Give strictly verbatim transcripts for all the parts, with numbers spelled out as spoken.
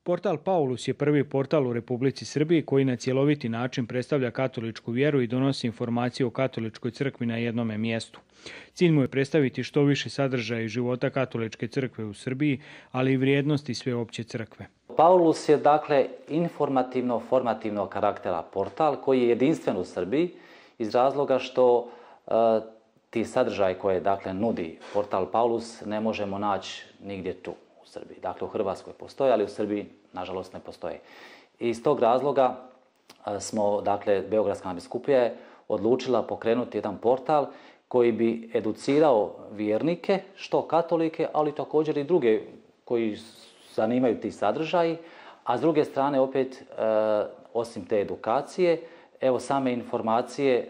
Portal Paulus je prvi portal u Republici Srbiji koji na cjeloviti način predstavlja katoličku vjeru i donosi informacije o katoličkoj crkvi na jednome mjestu. Cilj mu je predstaviti što više sadržaja i života katoličke crkve u Srbiji, ali i vrijednosti sveopće crkve. Paulus je dakle informativno-formativnog karaktera portal koji je jedinstven u Srbiji iz razloga što e, ti sadržaj koje dakle nudi portal Paulus ne možemo naći nigdje tu u Srbiji. Dakle u Hrvatskoj postoje, ali u Srbiji nažalost ne postoje. I iz tog razloga e, smo, dakle, Beogradska nadbiskupija je odlučila pokrenuti jedan portal koji bi educirao vjernike, što katolike, ali također i druge koji zanimaju ti sadržaji, a s druge strane opet, e, osim te edukacije, evo same informacije e,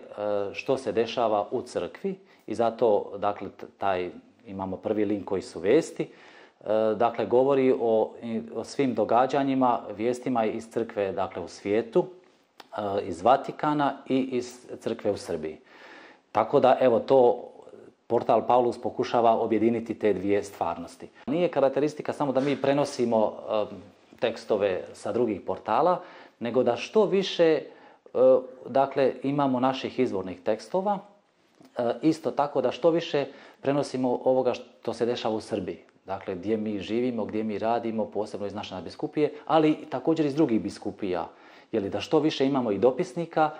što se dešava u crkvi i zato, dakle, taj, imamo prvi link koji su vijesti, e, dakle, govori o, o svim događanjima, vijestima iz crkve, dakle, u svijetu, e, iz Vatikana i iz crkve u Srbiji. Tako da, evo, to portal Paulus pokušava objediniti te dvije stvarnosti. Nije karakteristika samo da mi prenosimo um, tekstove sa drugih portala, nego da što više uh, dakle, imamo naših izvornih tekstova, uh, isto tako da što više prenosimo ovoga što se dešava u Srbiji. Dakle, gdje mi živimo, gdje mi radimo, posebno iz naše nadbiskupije, ali također iz drugih biskupija. Jeli, da što više imamo i dopisnika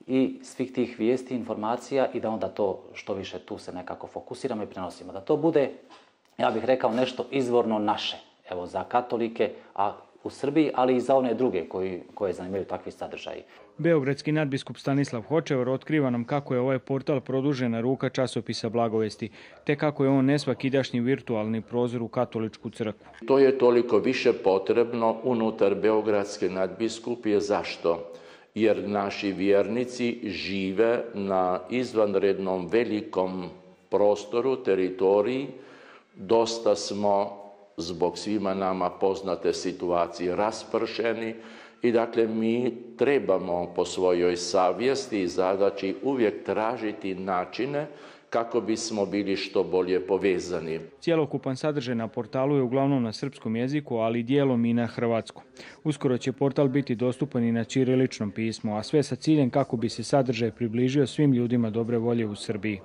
i svih tih vijesti, informacija i da onda to što više tu se nekako fokusiramo i prenosimo. Da to bude, ja bih rekao, nešto izvorno naše, evo za katolike a u Srbiji, ali i za one druge koji, koje zanimaju takvi sadržaji. Beogradski nadbiskup Stanislav Hočevar otkriva nam kako je ovaj portal produžena ruka časopisa Blagovesti, te kako je on nesvakidašnji virtualni prozor u katoličku crkvu. To je toliko više potrebno unutar Beogradske nadbiskupije. Zašto? Jer naši vjernici žive na izvanrednom velikom prostoru, teritoriji. Dosta smo, zbog svima nama poznate situacije, raspršeni i dakle mi trebamo po svojoj savjesti i zadaći uvijek tražiti načine kako bismo bili što bolje povezani. Cjelokupan sadržaj na portalu je uglavnom na srpskom jeziku, ali dijelom i na hrvatskom. Uskoro će portal biti dostupan i na ćiriličnom pismu, a sve sa ciljem kako bi se sadržaj približio svim ljudima dobre volje u Srbiji.